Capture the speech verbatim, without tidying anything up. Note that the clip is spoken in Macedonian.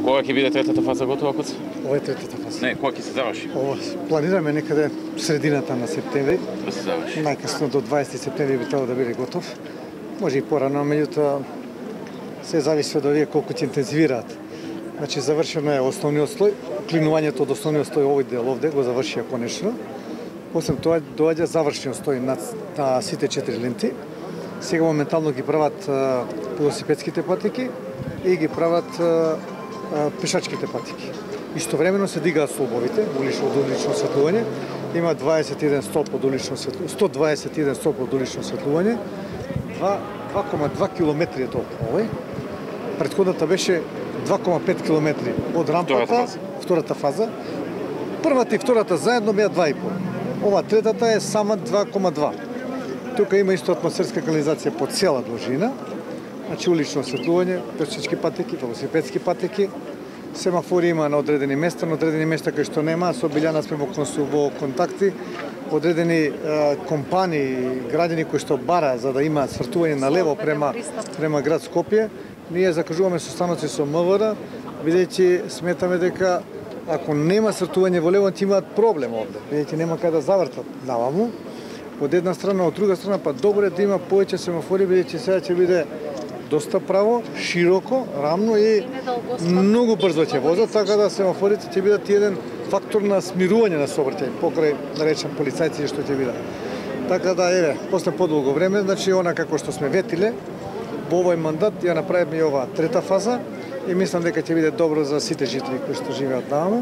Кога ќе биде третата фаза готова, Коце? Ова е третата фаза. Не, кога ќе се заврши? Ова планираме некаде средината на септември. Да се заврши. Најкасно до дваесети септември би требало да биде готов. Може и порано, меѓутоа се зависи од овие колку ќе интензивираат. Значи завршено е основниот слој, клинувањето од основниот слој овој дел овде го завршија конечно. Освен тоа доаѓа завршниот слој на, на сите четири ленти. Сега моментално ги прават а, велосипедските патеки и ги прават а, а, пешачките патеки. Истовремено се дигаат столбовите, улично од улично осветлување. Има дваесет и еден столб од улично осветлување, сто дваесет и еден столб од улично осветлување. два кома два километри е толку овој. Претходната беше два кома пет километри од рампата, втората фаза. втората фаза. Првата и втората заедно беа два и пол. Ова третата е сама два кома два. Тука има исто атмосферска канализација по цела должина. Значи улично осветлување, пешачки патеки, велосипедски патеки. Семафори има на одредени места, на одредени места кај што нема, со Билјана сме во контакти. Одредени е, компании, граѓани кои што бара за да има свртување на лево према према град Скопје, ние закажуваме состаноци со МВР, бидејќи сметаме дека ако нема свртување во лево, ќе имаат проблем овде, бидејќи нема кај да завртат наваму. Од една страна, од друга страна, па добро е да има повеќе семафори, бидејќи сега ќе биде доста право, широко, рамно и многу брзо ќе возат, така да семафорите ќе бидат еден фактор на смирување на сообраќај покрај, да речем, полицајци што ќе бидат. Така да, еве, после подолго време, значи, она како што сме ветиле, во овој мандат ја направиме и ова трета фаза и мислам дека ќе биде добро за сите жители кои што живеат таму.